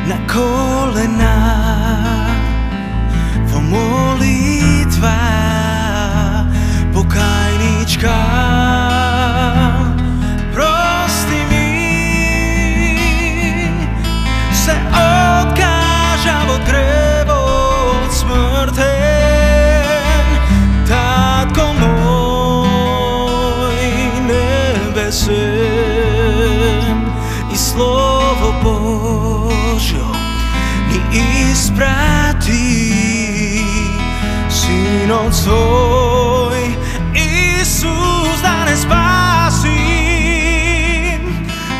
na kolena, во молитва покајничка. Прости ми, се откажав од гревот смртен, татко мој небесен, и Слово Божјо ни испрати, Синот свој Исус да не спаси,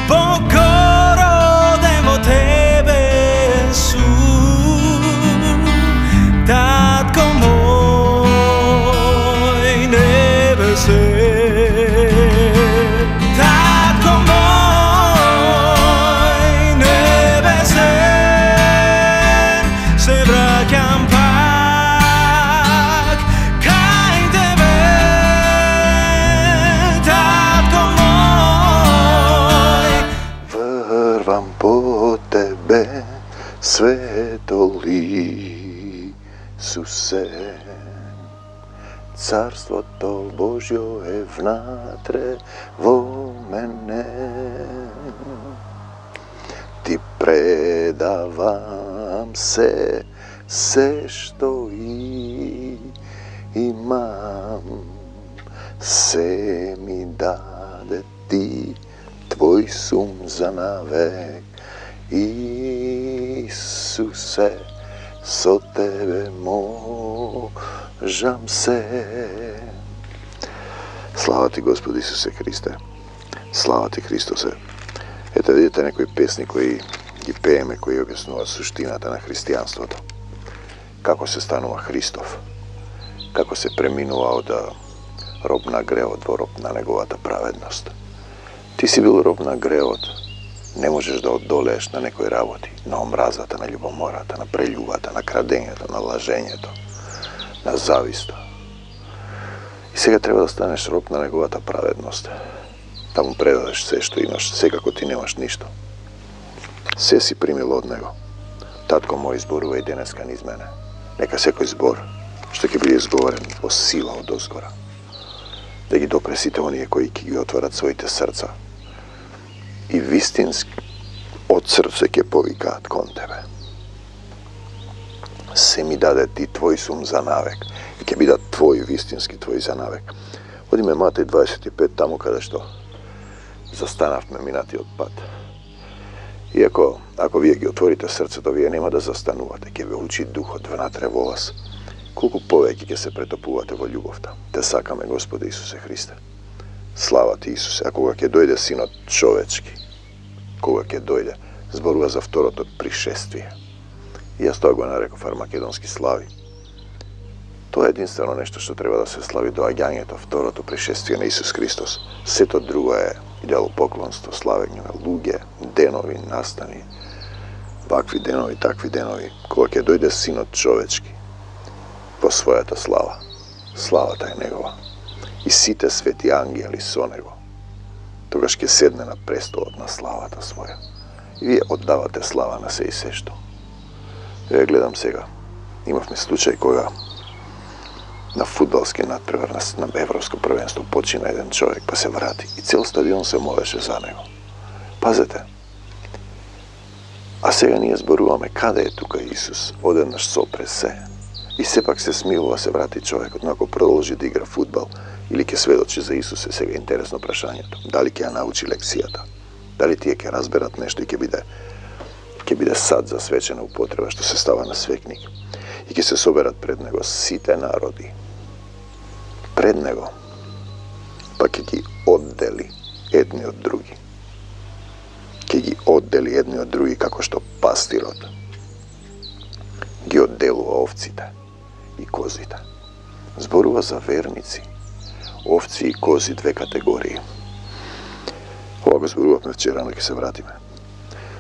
покороден во тебе сум, татко мој небесен, татко мој небесен, се враќам пак кај тебе, татко мој. Врвам по тебе, светол Исусе, Царството Божјо е внатре во мене. Ти предавам се што имам, се ми даде ти, твој сум за навек. Исусе, со тебе можам се. Слава ти, Господи Исусе Христе. Слава ти, Христосе. Ете, видите некои песни кои ги пееме, кои објаснуваат суштината на христијанството. Како се станува Христов. Како се преминува од роб на гревот во роб на неговата праведност. Ти си бил роб на гревот. Не можеш да одолееш на некои работи, на омразата, на љубомората, на прељубата, на крадењето, на лажењето, на зависта. И сега треба да станеш роб на неговата праведност. Да му предадеш се што имаш, секако ти немаш ништо. Се си примил од него. Татко мој, зборува и денеска низ мене. Нека секој збор што ќе биде изговорен во сила од озгора, да ги допре сите оние кои ќе ги отворат своите срца и вистински од срце ќе повикаат кон тебе. Се ми даде ти, твој сум за навек, и ќе бидат твој, вистински твој за навек. Одиме Матеј 25, таму каде што застанавме минатиот пат. Иако, ако вие ги отворите срцето, вие нема да застанувате, ќе ве учи Духот внатре во вас. Колку повеќе ќе се претопувате во љубовта. Те сакаме, Господи Исусе Христе. Слава ти, Исусе. А кога ќе дојде Синот човечки, кога ќе дојде, зборува за второто пришествие. И јас тоа го нареков армагедонски слави. Тоа е единствено нешто што треба да се слави, доаѓањето, второто пришествие на Исус Христос. Сето друго е идолопоклонство, славење на луѓе, денови, настани, вакви денови, такви денови. Кога ќе дојде Синот човечки во својата слава, славата е негова, и сите свети ангели со него, тогаш ќе седне на престолот на славата своја. И вие оддавате слава на се и се што. Ја гледам сега, имавме случај кога на фудбалски надпревар на Европско првенство почина еден човек, па се врати и цел стадион се молеше за него. Пазете. А сега ние зборуваме каде е тука Исус, одеднаш сопре се. И сепак се смилува, се врати човекот, но ако продолжи да игра фудбал или ќе сведочи за Исус, е сега интересно прашањето. Дали ќе ја научи лекцијата? Дали тие ќе разберат нешто и ќе биде сад за свечена употреба што се става на свекник? И ќе се соберат пред него сите народи. Пред него. Па ќе ги оддели едни од други. Ќе ги оддели едни од други како што пастирот ги одделува овците и козите. Зборува за верници. Овци и кози, две категории. Ова го зборувавме вчера, но ќе се вратиме.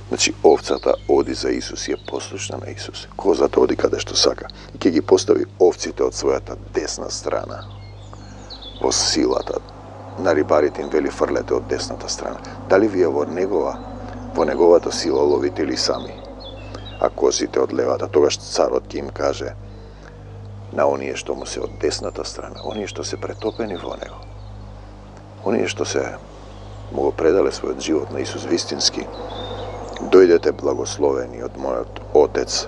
Значи, овцата оди за Исус и е послушна на Исус. Козата оди каде што сака и ќе ги постави овците од својата десна страна. Во силата. На рибарите им вели фрлете од десната страна. Дали вие во неговата сила ловите или сами? а козите од левата. Тогаш царот ќе им каже на оние што му се од десната страна, оние што се претопени во него, оние што се му го предале својот живот на Исус вистински: дојдете благословени од мојот Отец,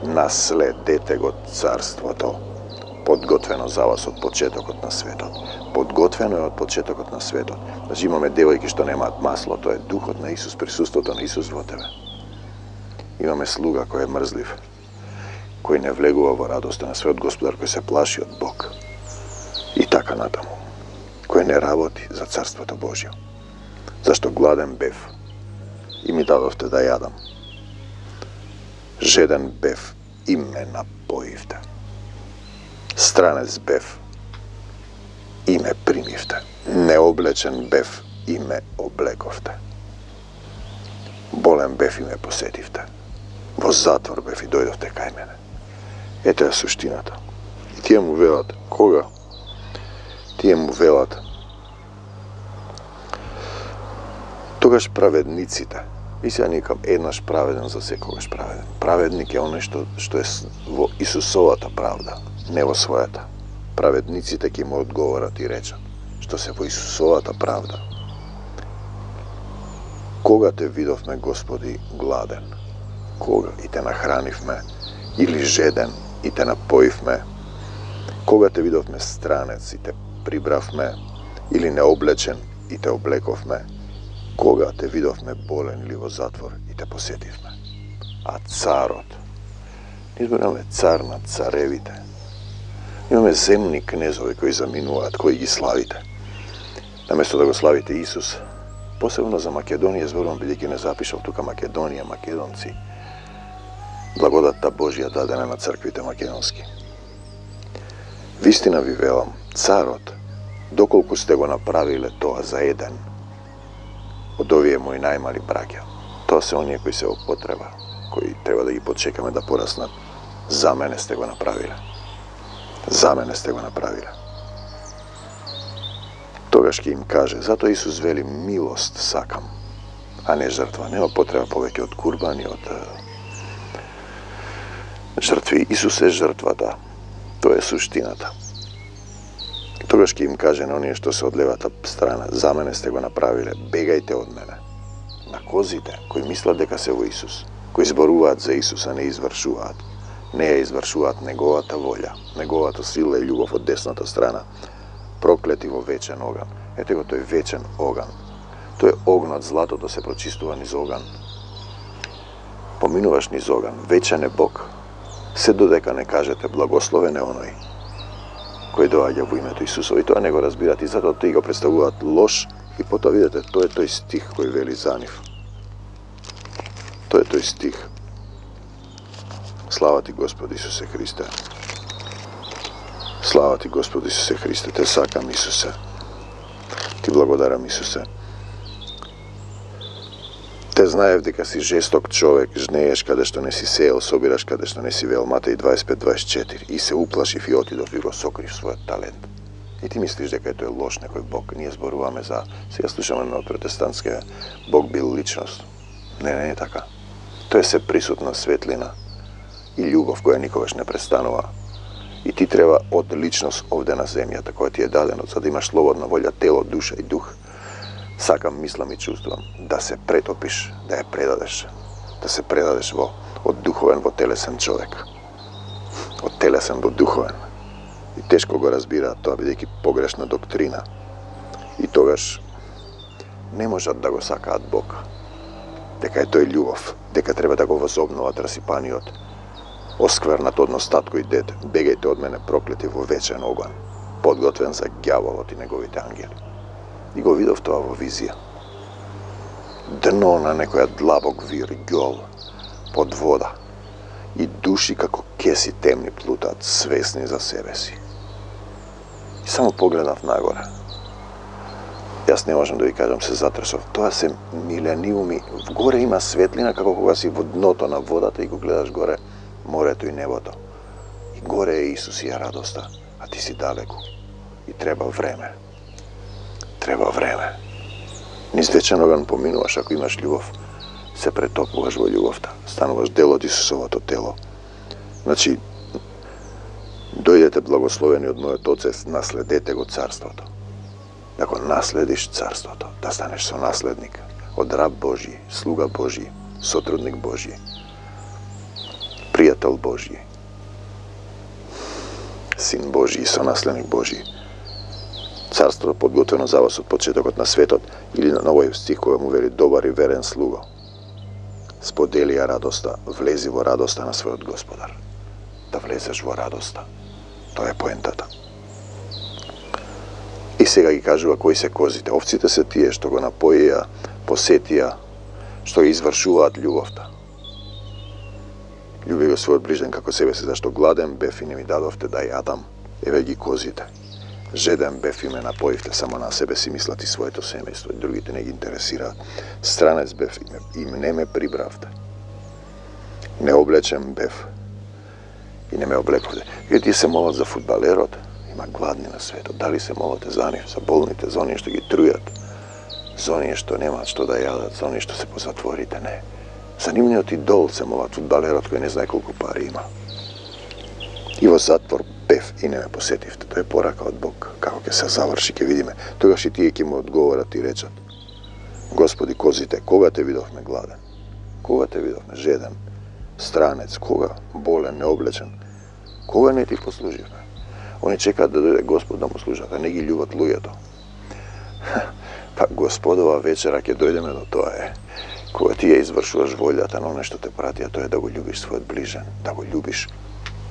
наследете го царството, подготвено за вас од почетокот на светот. Подготвено е од почетокот на светот. Значи имаме девојки што немаат масло, тоа е духот на Исус, присуството на Исус во тебе. Имаме слуга кој е мрзлив, кој не влегува во радоста на својот Господар, кој се плаши од Бог. И така натаму, кој не работи за Царството Божјо. Зашто гладен бев и ми дадовте да јадам. Жеден бев и ме напоивте. Странец бев и ме примивте. Необлечен бев и ме облековте. Болен бев и ме посетивте. Во затвор бев и дојдовте кај мене. Ете е суштината. И тие му велат, кога? Тие му велат, тогаш праведниците. И сега никам еднаш праведен за секогаш праведен. Праведник е оној што е во Исусовата правда, не во својата. Праведниците ќе му одговорат и речат, што се во Исусовата правда. Кога те видовме, Господи, гладен? Кога и те нахранивме? Или жеден и те напоивме? Кога те видовме странец и те прибравме? Или необлечен и те облековме? Кога те видовме болен или во затвор и те посетивме? А царот, ние зборуваме цар на царевите. Имаме земни кнезови кои заминуваат, кои ги славите. Наместо да го славите Исус, посебно за Македонија зборувам, бидејќи не запишав тука Македонија, македонци. Благодатта Божја дадена на црквите македонски. Вистина ви велам, царот, доколку сте го направиле тоа за еден од овие мои најмали браќа, тоа се оние кои се во потреба, кои треба да ги почекаме да пораснат, за мене сте го направиле. За мене сте го направиле. Тогаш ќе им каже, затоа Исус вели, милост сакам, а не жртва. Нема потреба повеќе од курбани, од жртви. Исус е жртвата. Тоа е суштината. Тогаш ќе им каже на оние што се од левата страна, за мене сте го направиле, бегајте од мене. На козите, кои мислат дека се во Исус, кои зборуваат за Исус, а не извршуваат. Не ја извршуваат неговата волја, неговата сила и љубов од десната страна, проклети во вечен оган. Ете го тој вечен оган. Тој огнот, златото се прочистува низ оган. Поминуваш низ оган, вечен е Бог. Се додека не кажете благословен е оној кој доаѓа во името Исусово. И тоа не го разбират и затоа тој го представуваат лош и потоа видите, тоа е тој стих кој вели за нив. Тоа е тој стих. Слава ти Господи Исусе Христе. Слава ти Господи Исусе Христе. Те сакам, Исусе. Ти благодарам, Исусе. Те знаев дека си жесток човек, жнееш каде што не си сеел, собираш каде што не си вел. Матеј 25-24. И се уплашив и отидов и го сокрив својот талент. И ти мислиш дека тој е лош некој Бог. Ние зборуваме за... Сега слушаме на протестантска Бог бил личност. Не е така. Тој е се присутна светлина и љубов која никогаш не престанува. И ти треба од личност овде на земјата, која ти е дадено, за да имаш слободна волја, тело, душа и дух. Сакам, мислам и чувствувам да се претопиш, да ја предадеш, да се предадеш од духовен во телесен човек. Од телесен до духовен. И тешко го разбираат тоа, бидејќи погрешна доктрина. И тогаш не можат да го сакаат Бог. Дека е тој љубов, дека треба да го возобнуват расипаниот, осквернат однос татко и дете. Бегајте од мене, проклети во вечен оган, подготвен за ѓаволот и неговите ангели. И го видов тоа во визија. Дно на некоја длабок вир, ѓол, под вода. И души како кеси темни плутаат, свесни за себе си. И само погледнав нагоре. Јас не можам да ви кажам, се затресов. Тоа се милениуми. Горе има светлина, како кога си во дното на водата и го гледаш горе морето и небото. И горе е Исус и е радоста, а ти си далеку. И треба време. Треба време. Низ вечен оган поминуваш ако имаш љубов. се претопуваш во љубовта. Стануваш дел од Исусовото тело. Значи, дојдете благословени од мојот Отец, наследете го царството. Да го наследиш царството, да станеш сонаследник од раб Божи, слуга Божи, сотрудник Божи, пријател Божи, син Божи и сонаследник Божи. Царството подготвено за вас од почетокот на светот, или на овој стих кој му вели добар и верен слуго. Сподели ја радоста, влези во радоста на својот Господар. Да влезеш во радоста. Тоа е поентата. И сега ги кажува кои се козите. Овците се тие што го напоија, посетија, што ги извршуваат љубовта. Љуби го својот ближен како себе си, зашто гладен бев и не ми дадовте да јадам. Еве ги козите. Жеден бев и ме напоивте, само на себе си мислат и своето семејство, и другите не ги интересираат. Странец бев и не ме прибравте. Необлечен бев и не ме облековте. И тие се молат за фудбалерот, има гладни на светот. Дали се молате за нив, за болните, за оние што ги трујат, за оние што немаат што да јадат, за оние што се по затворите? Не. За нивниот идол се молат, фудбалерот кој не знае колку пари има. И во затвор бев и не ме посетивте. Тоа е порака од Бог. Како ќе се заврши, ќе видиме. Тогаш и тие ќе му одговорат и речат: Господи, козите, кога те видовме гладен? Кога те видовме жеден, странец, кога болен, необлечен? Кога не ти послуживме? Они чекаат да дојде Господ да му служат, а не ги љубат луѓето. Па Господова вечера ќе дојдеме до тоа е. Кога ти ја извршуваш волјата на оне што те прати, а тоа е да го љубиш својот ближен, да го љубиш.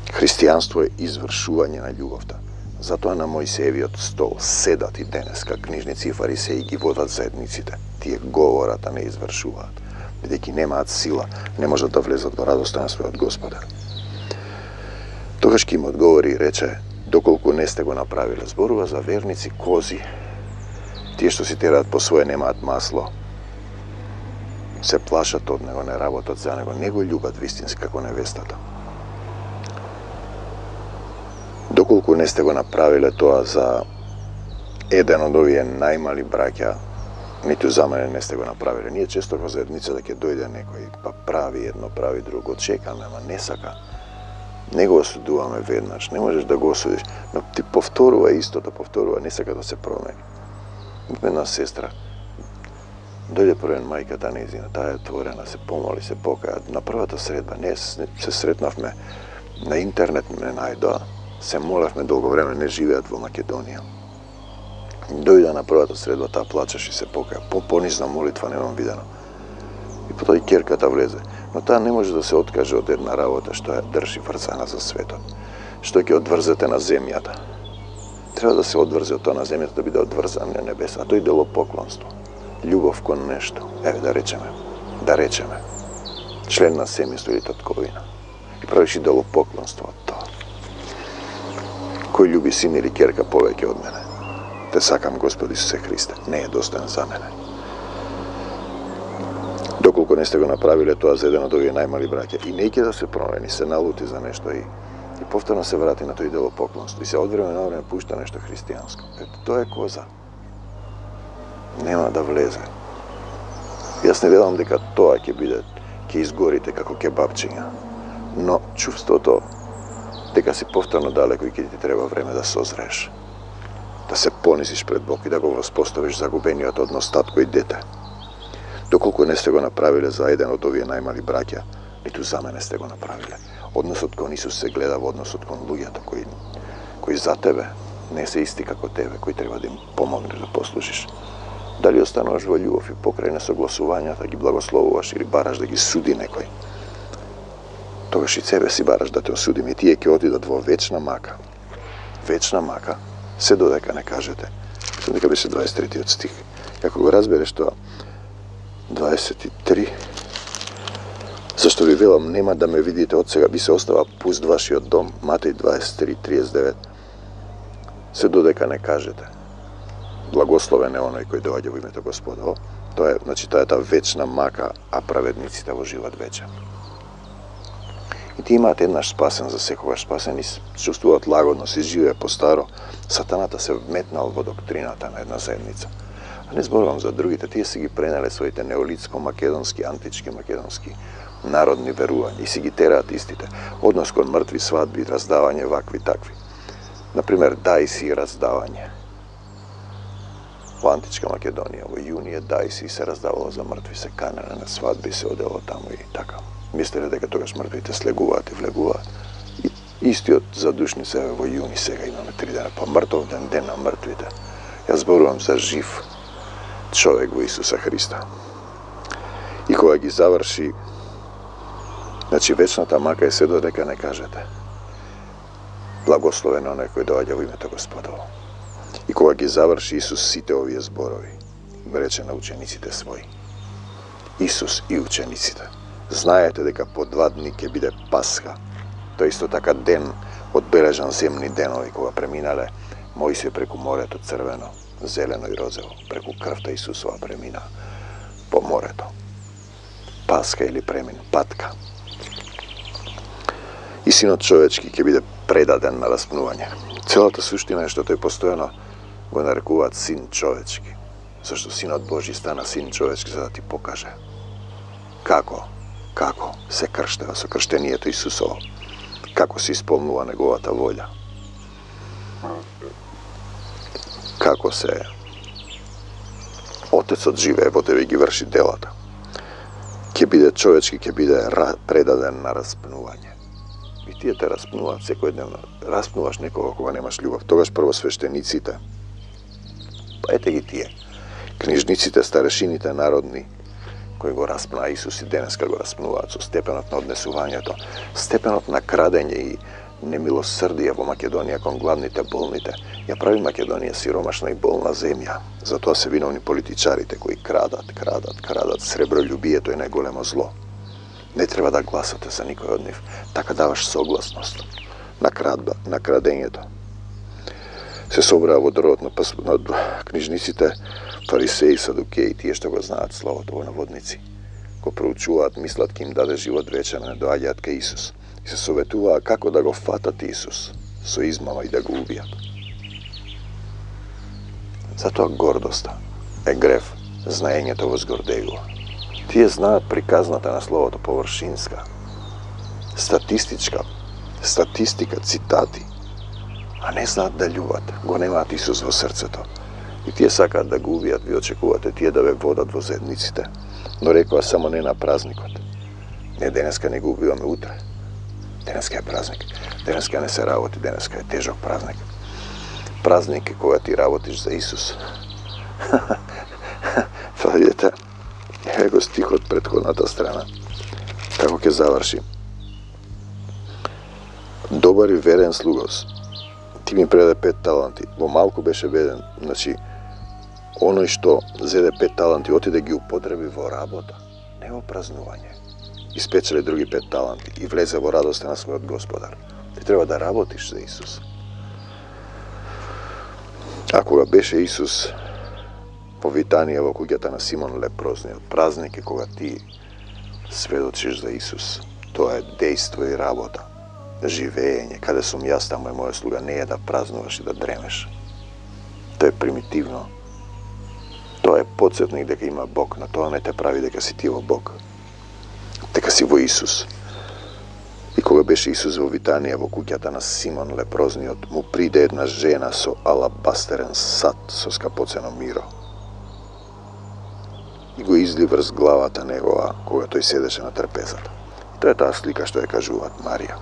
Христијанство е извршување на љубовта. Затоа на Мојсеевиот стол седат и денеска книжници и фарисеи ги водат заедниците. Тие говорат, а не извршуваат. Бидејќи немаат сила, не можат да влезат во радоста на својот Господар. Тогаш ќе им одговори и рече: доколку не сте го направиле. Зборува за верници кози. Тие што си тераат по своје, немаат масло, се плашат од него, не работат за него, не го љубат вистински како невестата. Доколку не сте го направиле тоа за еден од овие најмали браќа, ниту за мене не сте го направиле. Ние често во заедницата ќе дојде некој, па прави едно, прави друго, чекаме, ама не сака. Не го осудуваме веднаш, не можеш да го осудиш, но ти повторува истото, повторува, не сака да се промени. Една сестра, дојде првен мајката нејзина, таа е отворена, се помоли, се покаја. На првата средба, не се сретнавме на интернет, ме најдоа, се молевме долго време, не живеат во Македонија. Дојде на првата средба, таа плачеше и се покаја. Понизна молитва немам видено. И потоа и ќерката влезе. Но таа не може да се откаже од една работа што ја држи врзана за светот. Што ќе одврзете на земјата. Треба да се одврзе од тоа на земјата, да биде одврзан на небеса. А тоа е идолопоклонство. Љубов кон нешто. Еве да речеме. Член на семејство или татковина. И правиш идолопоклонство од тоа. Кој љуби син или ќерка повеќе од мене? Те сакам, Господи Исусе Христе, не е достоен за мене. Доколку не сте го направиле тоа за еден од овие најмали браќа, и не ќе да се промени, се налути за нешто и повторно се врати на тој идолопоклонство и се од време на време пушта нешто христијанско. Ето, тоа е коза. Нема да влезе. Јас не велам дека тоа ќе изгорите како кебапчиња, но чувството дека си повторно далеко и ќе ти треба време да созреш, да се понизиш пред Бог и да го воспоставиш загубениот однос татко и дете. Доколку не сте го направиле за еден од овие најмали браќа, ниту за мене сте го направиле. Односот кон Исус се гледа во односот кон луѓето кои за тебе не се исти како тебе, кои треба да им помогнеш да послужиш. Дали остануваш во љубов и покрај несогласувањата ги благословуваш или бараш да ги суди некој, тогаш и себе си бараш да те осудим и тие ќе отидат во вечна мака. Вечна мака, се додека не кажете. Мислам дека беше 23 стих. Како го разбереш тоа, 23, зашто ви велам, нема да ме видите од сега, би се остава пуст вашиот дом, Матеј 23:39. Се додека не кажете. Благословен е оној кој доаѓа во името Господово. Тоа е, значи, таа е таа вечна мака, а праведниците во живот вечен. И ти имаат еднаш спасен, за секогаш спасен и чувствуваат лагодно, се живее по старо. Сатаната се вметнал во доктрината на една заедница. А не зборувам за другите, тие си ги пренеле своите неолитско-македонски, антички-македонски народни верувања и си ги тераат истите. Однос кон мртви, свадби, раздавање, вакви, такви. Например, дајси и раздавање. Во античка Македонија, во јунија, дајси се раздавало за мртви, се канеле на свадби, се одело таму и така. Мислеле дека тогаш мртвите слегуваат и влегуваат. И истиот задушни се во јуни, сега имаме 3 дена, па мртов ден, ден на мртвите. Јас зборувам за жив човек во Исуса Христа. И кога ги заврши, значи вечната мака е се додека не кажете благословен оној кој доаѓа во името Господово. И кога ги заврши Исус сите овие зборови, рече на учениците своји. Исус и учениците, знаете дека по 2 дни ќе биде Пасха. Тоа исто така ден, одбележан земни денови, кога преминале Мојсија преку морето црвено, зелено и розово, преку крвта Исусова премина по морето. Пасха или премин, патка. И Синот човечки ќе биде предаден на распнување. Целата суштина е што тој постојано го нарекуваат Син човечки. Зашто Синот Божи стана Син човечки за да ти покаже како се крштева со крштението Исусово, како се исполнува неговата волја, како се Отецот живее во тебе и ги врши делата. Ќе биде човечки, ќе биде предаден на распнување. И тие те распнуваат секојдневно. Распнуваш некого кога немаш љубов. Тогаш прво свештениците, па ете ги тие, книжниците, старешините народни, кои го распна Исус и денеска го распнуваат со степенот на однесувањето, степенот на крадење и немилосрдие во Македонија кон главните болните. Ја прави Македонија сиромашна и болна земја. Затоа се виновни политичарите кои крадат. Сребролюбието е најголемо зло. Не треба да гласате за никој од нив. Така даваш согласност на крадењето. Се собраа во дрвот на книжниците, фарисеи, садукеи, тие што го знаат словото во наводници. Го проучуваат, мислат ке им даде живот вечен, не доаѓаат кај Исус. И се советуваа како да го фатат Исус со измама и да го убијат. Затоа гордоста е грев, знаењето возгордегува. Тие знаат приказната на словото површинска, статистика, цитати, а не знаат да љубат, го немаат Исус во срцето. И тие сакаат да го убијат, ви очекувате тие да ве водат во зедниците, но рекоа само не на празникот. Не денеска не го убиваме утре. Денеска е празник. Денеска не се работи, денеска е тежок празник. Празник е кога ти работиш за Исус. Па видите, его стихот претходната страна. Како ќе заврши. Добар и верен слугос, ти ми предаде 5 таланти. Во малку беше беден. Значи, оној што зеде 5 таланти, отиде ги употреби во работа, не во празнување. Испечеле други 5 таланти и влезе во радоста на својот Господар. Ти треба да работиш за Исус. А кога беше Исус во Витанија, во куќата на Симон Лепрозниот, празник е кога ти сведочиш за Исус. Тоа е дејство и работа, живење. Каде сум јас, таму е моја слуга. Не е да празнуваш и да дремеш. Тоа е примитивно. Тоа е потсетник дека има Бог, но тоа не те прави дека си ти во Бог. Дека си во Исус. И кога беше Исус во Витанија, во куќата на Симон Лепрозниот, му приде една жена со алабастерен сат со скапоцено миро. И го изли врз главата негова, кога тој седеше на трпезата. И тоа е таа слика што ја кажуваат Марија.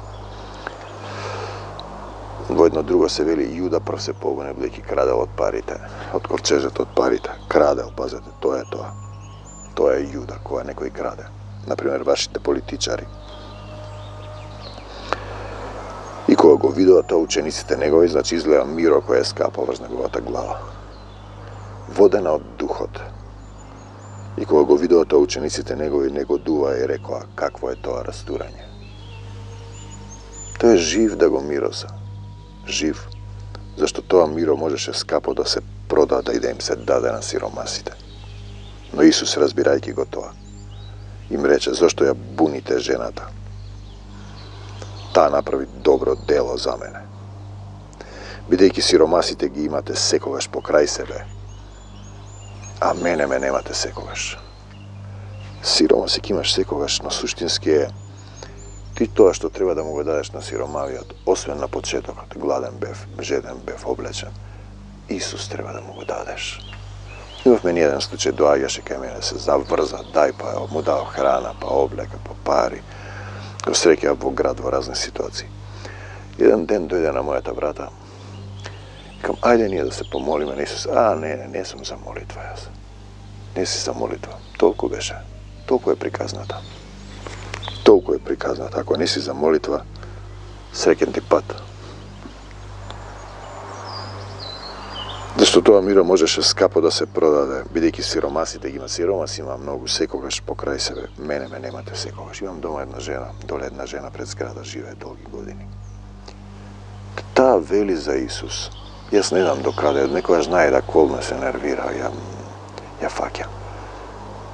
Во едно друго се вели Јуда прв се погоне, бидејќи крадел од парите, од ковчежето од парите. Крадел, пазете, тоа е тоа. Тоа е Јуда, кога некој краде. Например, вашите политичари. И кога го видоа тоа учениците негови, значи изгледа миро кој е скапал врз неговата глава. Водена од духот. И кога го видоа тоа учениците негови, негодува и рекоа какво е тоа растурање. Тој е жив да го мироса. Жив. Зашто тоа миро можеше скапо да се продаде и да им се даде на сиромасите. Но Исус, разбирајќи го тоа, им рече, зашто ја буните жената? Таа направи добро дело за мене. Бидејќи сиромасите ги имате секогаш покрај себе, а мене ме немате секогаш. Сиромасик имаш секогаш, но суштински е ти тоа што треба да му го дадеш на сиромавиот, освен на почетокот, гладен бев, жеден бев, облечен. Исус треба да му го дадеш. Имавме ни еден случај, доаѓаше кај мене, се заврза, дај па му дал храна, па облека, па пари. Го среќа во град во разни ситуации. Еден ден дојде на мојата брата, кам, ајде ние да се помолиме на Исус. Не сум за молитва јас. Не си за молитва. Толку беше. Толку е приказната. Толку е приказната. Ако не си за молитва, среќен ти пат. Зашто тоа миро можеше скапо да се продаде, бидејќи сиромасите ги има. Сиромаси има многу, секогаш покрај себе. Мене ме немате секогаш. Имам дома една жена, доле една жена пред зграда, живее долги години. Таа вели за Исус. Јас не знам докаде, некојаш знае да колме се нервира, ја фаќа.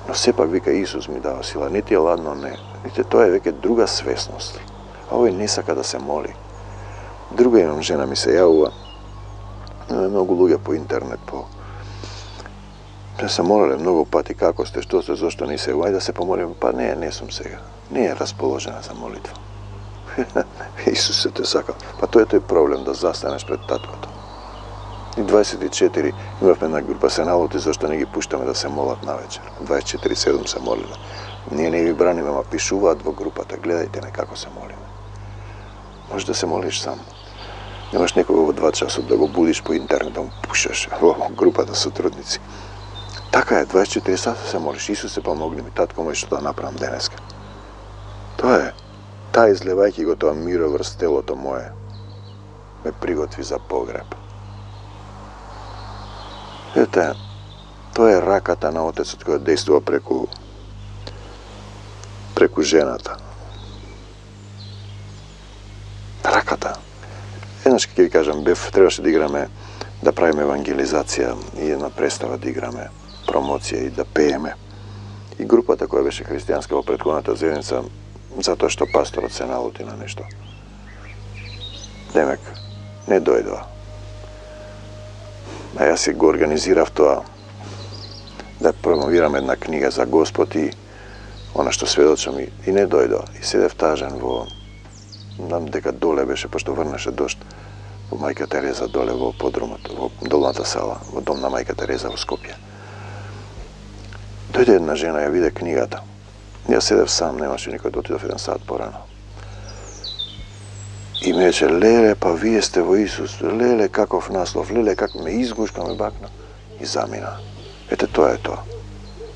Но сепак вика Исус ми дава сила, не ти е ладно, не. Видите, тоа е веќе друга свесност. А овој не сака да се моли. Друга имам жена ми се јавува. Многу луѓе по интернет, се молеле многу пати, како сте, што сте, зошто не се, ајде да се помолиме, па не сум сега. Не е расположена за молитва. Исус се те сака. Па тоа е тој проблем, да застанеш пред таткото. И 24 имавме една група, се налути зашто не ги пуштаме да се молат навечер. 24/7 се молиле. Ние не ви браниме, ама пишуваат во групата, гледајте ме како се молиме. Може да се молиш сам. Немаш некого во 2 часот да го будиш по интернет, да му пушаш во групата сотрудници. Така е, 24 сата се молиш. Исус се помогни ми, татко мој, што да направам денеска. Тоа е. Таа излевајќи го тоа миро врз телото мое, ме приготви за погреб. Ете, тоа е раката на Отецот која действува преку жената. Раката. Еднаш ќе ви кажам, требаше да играме, да правиме евангелизација и една представа да играме, промоција и да пееме. И групата која беше христијанска во претходната заедница, затоа што пасторот се налути на нешто. Демек, не дојдоа. А јас си го организирав тоа да промовирам една книга за Господ и она што сведочам и не дојдоа. И седев тажен во, знам дека доле беше, пошто врнеше дожд, во Мајка Тереза доле во подрумот, во долната сала, во дом на Мајка Тереза во Скопје. Дојде една жена, ја виде книгата. Јас седев сам, немаше никој, отидов 1 сат порано. И ме рече, леле, па вие сте во Исус, леле, каков наслов, леле, како ме изгушка, ме бакна и замина. Ете, тоа е тоа.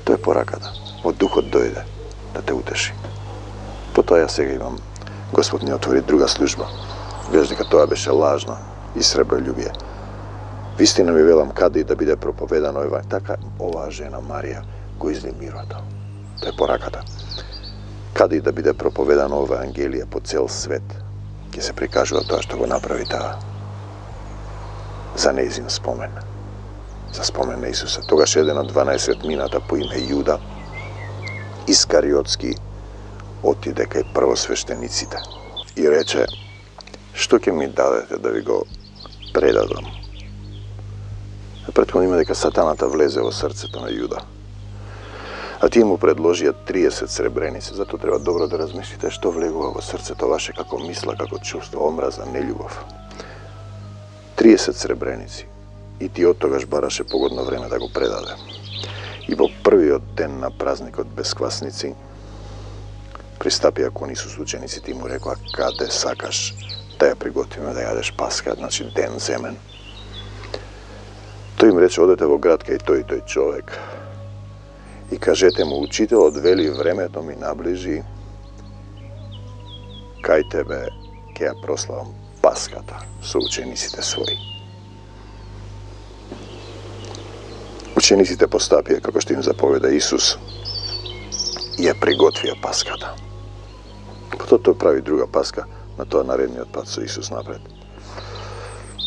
Тоа е пораката. Од духот дојде да те утеши. Потоа ја сега имам, Господ ни отвори друга служба. Гледаш дека тоа беше лажно и среброљубие. Вистина ми велам, каде и да биде проповедано евангелие, така оваа жена Марија го изли мирото. Тоа е пораката. Каде и да биде проповедано евангелие по цел свет, ќе се прикажува тоа што го направи таа. За нејзин спомен. За спомен на Исуса. Тогаш еден од 12 мината по име Јуда, Искариотски, отиде кај првосвештениците и рече, што ќе ми дадете да ви го предадам? Претходно има дека сатаната влезе во срцето на Јуда. А тие му предложија 30 сребреници, затоа треба добро да размислите што влегува во срцето ваше, како мисла, како чувство, омраза, нељубов. 30 сребреници. И ти од тогаш бараше погодно време да го предаде. И во првиот ден на празникот без квасници, пристапија кон Исус учениците и му рекоа, каде сакаш да ја приготвиме да јадеш Пасха, значи ден земен. Тој им рече, одете во град кај тој и тој човек и кажете му, учителот вели, времето ми наближи, кај тебе ќе ја прославам Паската со учениците своји. Учениците постапија како што им заповеда Исус и ја приготвија Паската. Потоа тој прави друга Паска, на тоа наредниот пат со Исус напред.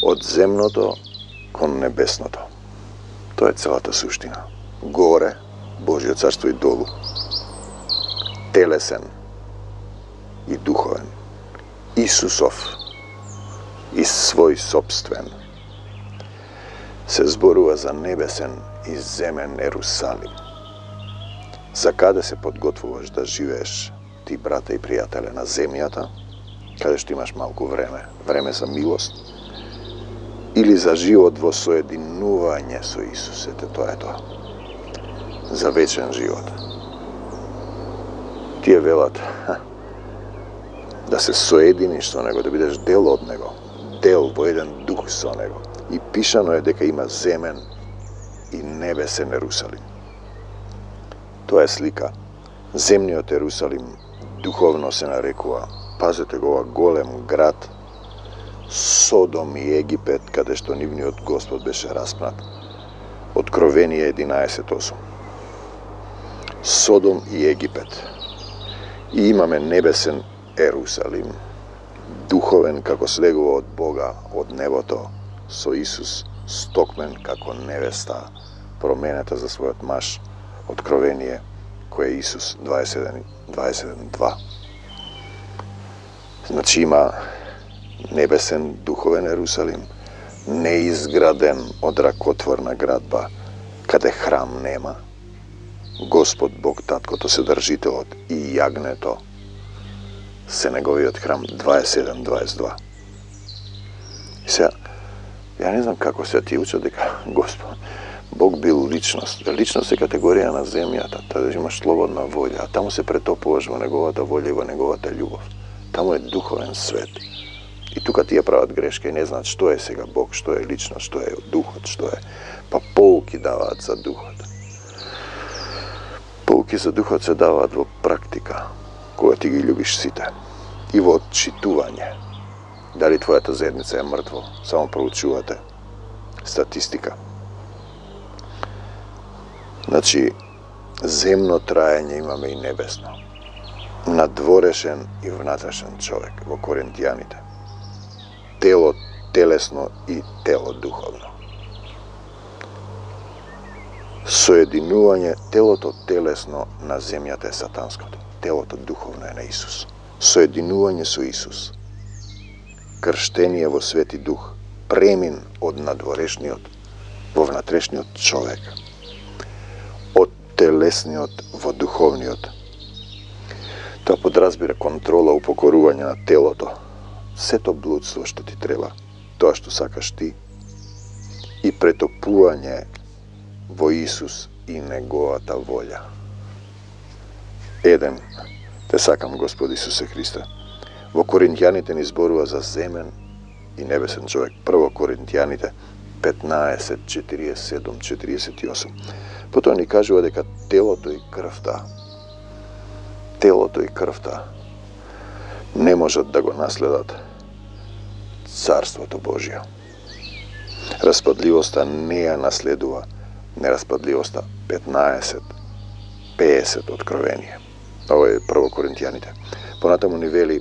Од земното кон небесното. Тоа е целата суштина. Горе, Божјо царство и долу. Телесен и духовен. Исусов и свој собствен. се зборува за небесен и земен Ерусалим. За каде се подготвуваш да живееш ти, брате и пријателе, на земјата, каде што имаш малку време за милост, или за живот во соединување со Исус? Ете, тоа е тоа. За вечен живот. Тие велат да се соединиш со Него, да бидеш дел од Него, дел во еден дух со Него. И пишано е дека има земен и небесен Ерусалим. Тоа е слика. Земниот Ерусалим духовно се нарекува, пазете го, ова голем град, Содом и Египет, каде што нивниот Господ беше распнат. Откровение 11:8. Содом и Египет. И имаме небесен Ерусалим, духовен како слегува од Бога, од небото, со Исус, стокмен како невеста, променета за својот маж. Откровение, кој е Исус 27:2. Значи има небесен духовен Ерусалим, неизграден од ракотворна градба, каде храм нема. Господ Бог Таткото, Седржителот и јагнето се неговиот храм. 27:22. И сега, ја не знам како се ти учат дека Господ Бог бил личност. Личност е категорија на земјата, да имаш слободна волја, а таму се претопуваш во неговата волја и во неговата љубов. Таму е духовен свет. И тука тие прават грешка и не знаат што е сега Бог, што е личност, што е духот, што е. Па поуки даваат за духот. Поуки за духот се даваат во практика, кога ти ги љубиш сите. И во отчитување. Дали твојата заедница е мртво, само проучувате статистика. Значи, земно траење имаме и небесно. Надворешен и внатрешен човек во Коринтијаните. Тело телесно и тело духовно. Соединување, телото телесно на земјата е сатанското. Телото духовно е на Исус. Соединување со Исус. Крштение во Свети Дух. Премин од надворешниот во внатрешниот човек. Од телесниот во духовниот. Тоа подразбира контрола, упокорување на телото. Сето блудство што ти треба, тоа што сакаш ти, и претопување во Исус и неговата волја. Еден, те сакам Господ Исусе Христе. Во Коринтијаните ни зборува за земен и небесен човек. Прво Коринтијаните 15:47-48. Потоа ни кажува дека телото и крвта не можат да го наследат Царството Божие. Распадливоста не ја наследува нераспадливоста. 15:50 Откровение. Ова е прво Коринтијаните. Понатаму ни вели,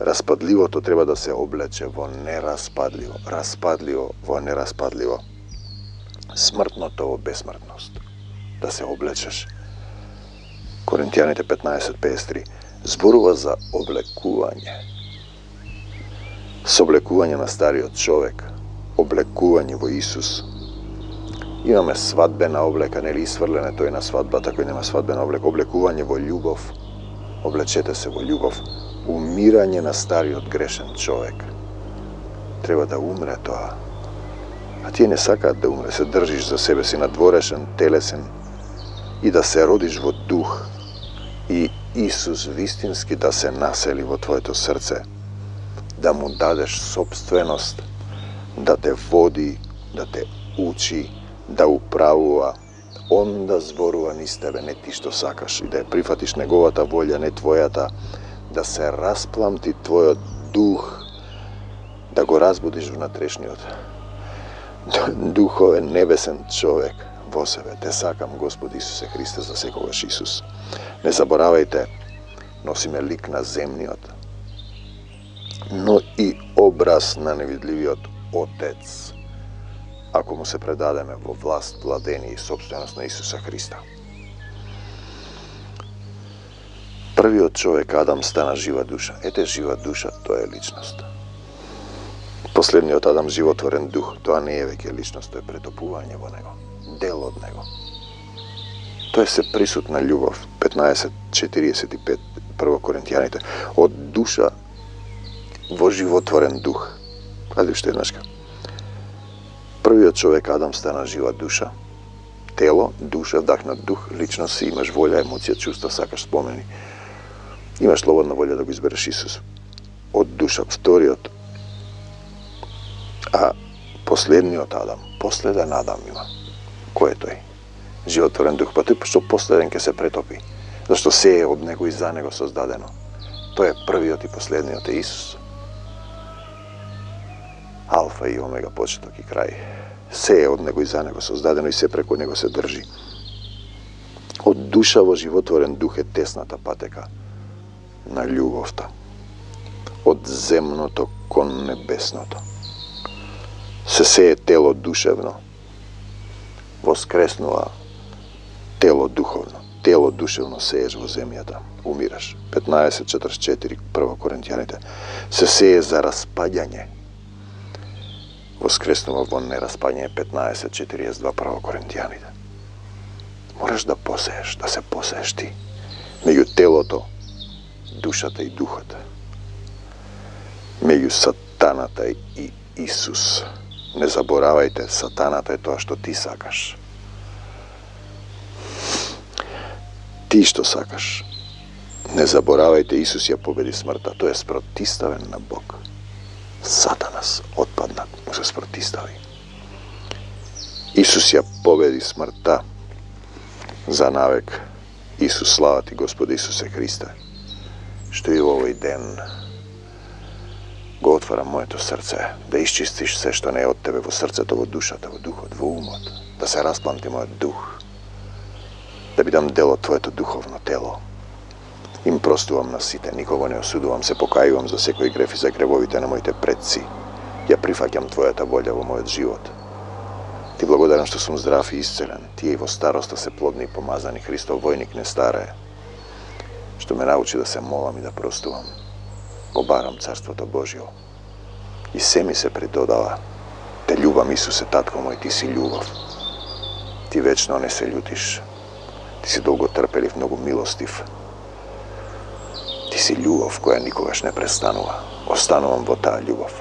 распадливото треба да се облече во нераспадливо, распадливо во нераспадливо, смртното во бесмртност. Да се облечеш. Коринтијаните 15:53 зборува за облекување. Соблекување на стариот човек, облекување во Исус. Имаме свадбена облека, нели исфрлене тој на свадбата, кој нема свадбена облека, облекување во љубов. Облечете се во љубов. Умирање на стариот грешен човек. Треба да умре тоа. А тие не сакаат да умре, се држиш за себе си надворешен, телесен и да се родиш во дух и Исус вистински да се насели во твоето срце, да му дадеш собственост, да те води, да те учи, да управува, он да зборува низ тебе, не ти што сакаш, и да ја прифатиш неговата волја, не твојата, да се распламти твојот дух, да го разбудиш внатрешниот духовен небесен човек во себе. Те сакам, Господ Исусе Христе, за секогаш Исус. Не заборавајте, носиме лик на земниот, но и образ на невидливиот Отец, ако му се предадеме во власт, владение и собственост на Исуса Христа. Првиот човек, Адам, стана жива душа. Ете, жива душа, тоа е личност. По Последниот Адам, животворен дух, тоа не е веќе личност, тоа е претопување во него, дел од него. Тоа е се присутна љубов, 15:45, 1 Коринтијаните, од душа во животворен дух. Гледај уште еднашка. Првиот човек, Адам, стана жива душа. Тело, душа, вдахнат дух, личност си, имаш волја, емоција, чувства, сакаш, спомени. Имаш слободна волја да го избереш Исус. Од душа, вториот. А последниот Адам, последен Адам има. Кој е тој? Животворен дух. Па тој што последен ќе се претопи. Зашто се е од него и за него создадено. Тој е првиот и последниот е Исус. Алфа и омега, почеток и крај. Се е од него и за него создадено и се преку него се држи. Од душа во животворен дух е тесната патека на љубовта. Од земното кон небесното. Се е тело душевно. Воскреснува тело духовно. Тело душевно сееш во земјата. Умираш. 15:44, 1 Коринтијаните. Се е за распаѓање. Воскреснува во нераспаѓање. 15:42, 1 Коринтијаните. Мораш да посееш, да се посееш ти. Меѓу телото, душата и духот. Меѓу сатаната и Исус. Не заборавајте, сатаната е тоа што ти сакаш. Ти што сакаш. Не заборавајте, Исус ја победи смртта. Тој е спротиставен на Бог. Сатанас, отпаднат, му се спротистави. Исус ја победи смртта. За навек. Исус, слава ти, Господи Исусе Христе, што и во овој ден го отварам моето срце, да исчистиш се што не е од тебе во срцето, во душата, во духот, во умот, да се распламти мојот дух, да бидам дел од твоето духовно тело. Им простувам на сите, никого не осудувам, се покајувам за секој греф и за гревовите на моите предци. Ја прифаќам твојата волја во мојот живот. Ти благодарам што сум здрав и исцелен. Тие и во староста се плодни и помазани. Христов војник не старее. Што ме научи да се молам и да простувам. Го барам Царството Божјо. И се ми се придодава. Те љубам, Исусе, татко мој, ти си љубов. Ти вечно не се љутиш. Ти си долготрпелив, многу милостив. Ти си љубов која никогаш не престанува. Останувам во таа љубов.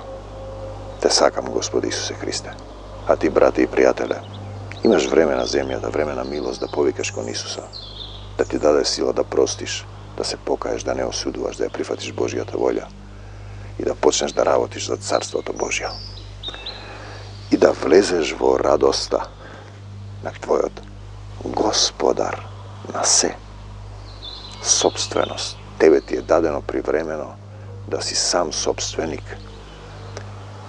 Те сакам, Господи Исусе Христе. А ти, брате и пријателе, имаш време на земјата, време на милост да повикаш кон Исуса, да ти даде сила да простиш, да се покаеш, да не осудуваш, да ја прифатиш Божјата волја и да почнеш да работиш за Царството Божјо. И да влезеш во радоста на твојот Господар на се. Собственост. Тебе ти е дадено привремено да си сам собственик.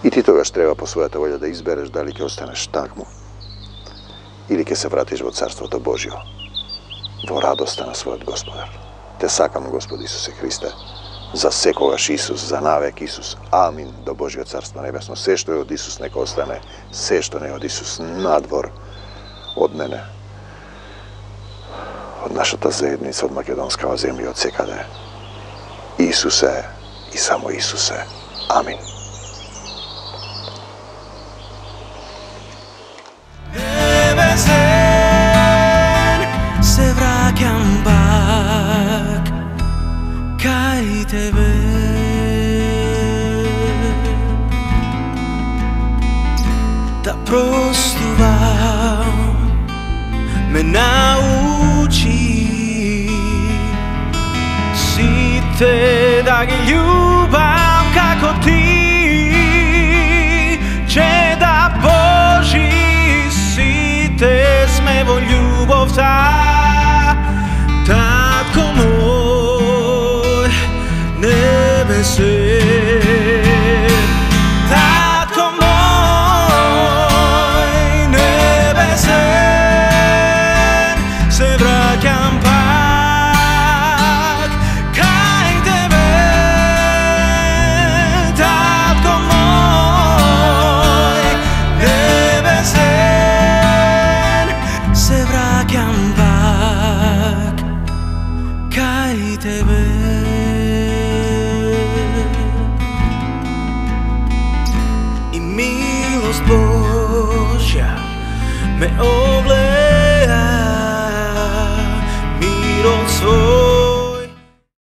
И ти тогаш треба по својата волја да избереш дали ќе останеш такму или ќе се вратиш во Царството Божјо, во радоста на својот Господар. Те сакам, Господи Исусе Христе, за секогаш Исус, за навек Исус. Амин, до Божјо Царство Небесно. Се што е од Исус нека остане, се што не е од Исус надвор од мене, од нашата заедница, од македонскава земја, од секаде. Исусе и само Исусе. Амин. Се враќам пак кај тебе. Да простувам ме научи, сите да ги љубам како ти, че да Божи сите сме во љубовта. Татко мој небесен, татко мој небесен, се враќам пак кај тебе. Татко мој небесен, се враќам пак кај тебе. Милост Божја ме облече